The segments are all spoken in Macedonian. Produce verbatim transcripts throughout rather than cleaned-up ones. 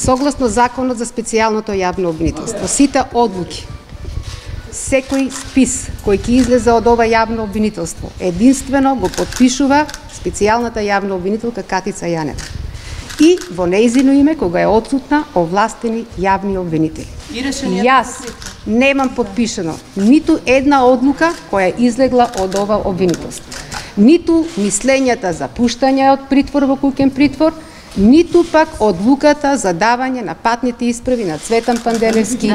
Согласно Законот за специјалното јавно обвинителство, сите одлуки, секој спис кој ќе излезе од ова јавно обвинителство, единствено го подпишува специјалната јавна обвинителка Катица Јанева. И во нејзино име, кога е отсутна, овластени јавни обвинители. Јас немам подпишано ниту една одлука која излегла од ова обвинителство. Ниту мислењата за пуштање од притвор во куќен притвор, ниту пак одлуката за давање на патните исправи на Цветан Панделевски и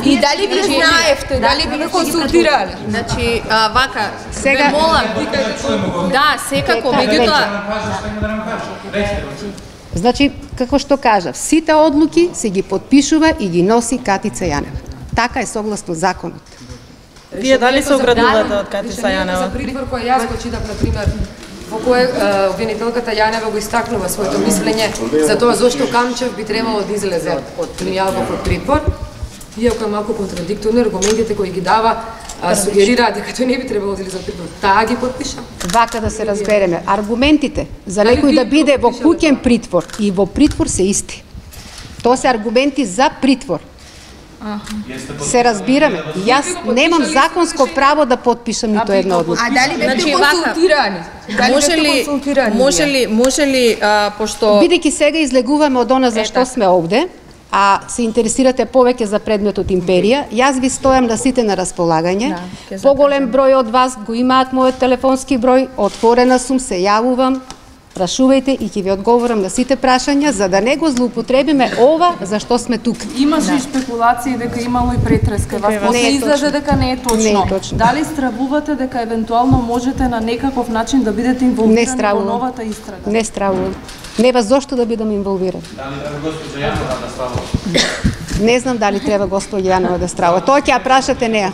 И дали ви знаевте, дали ви консултирале? Значи, а, вака, Сега- ве молам. Да, секако, меѓутоа, Значи, како што кажав, сите одлуки се ги подпишува и ги носи Катица Јанева. Така е согласно законот. Вие дали се оградувате од Катица Јанева? За притвор кој јас го читав, на пример, во кое е, обвинителката Јанева го истакнува своето мислење за тоа зошто Камчев би требало да излезе од Мијалков од притвор, иако е малку контрадикторни аргументите кои ги дава, а, сугерираат дека тој не би требало да излезе од притвор. Таа ги подпиша. Вака да се разбереме, аргументите за Дали некој вие да биде во подпишале куќен притвор и во притвор се исти. Тоа се аргументи за притвор. Се разбираме. Јас немам законско право да подпишам ниту една одлука. А дали бевте Значи, вака, консултирани? Дали може бевте ли, консултирани? може ли, може ли, а, пошто... Бидејќи сега излегуваме од она за што така. сме овде, а се интересирате повеќе за предметот империја, јас ви стојам на сите на располагање. ќе Поголем број од вас го имаат мојот телефонски број, отворена сум, се јавувам, прашувајте и ќе ви одговорам на сите прашања, за да не го злоупотребиме ова за што сме тук. Имаше и спекулации дека имало и претреска. Вас после Не е излезе точно. дека не е точно. Не е точно. Дали стравувате дека евентуално можете на некаков начин да бидете Не инволвирани во стравувам. новата истрага? Не стравувам. Неба зошто да бидам инволвиран. Дали треба госпоѓа Јанова да става? Не знам дали треба госпоѓа Јанова да стравува. Тоа ќе ја прашате неа.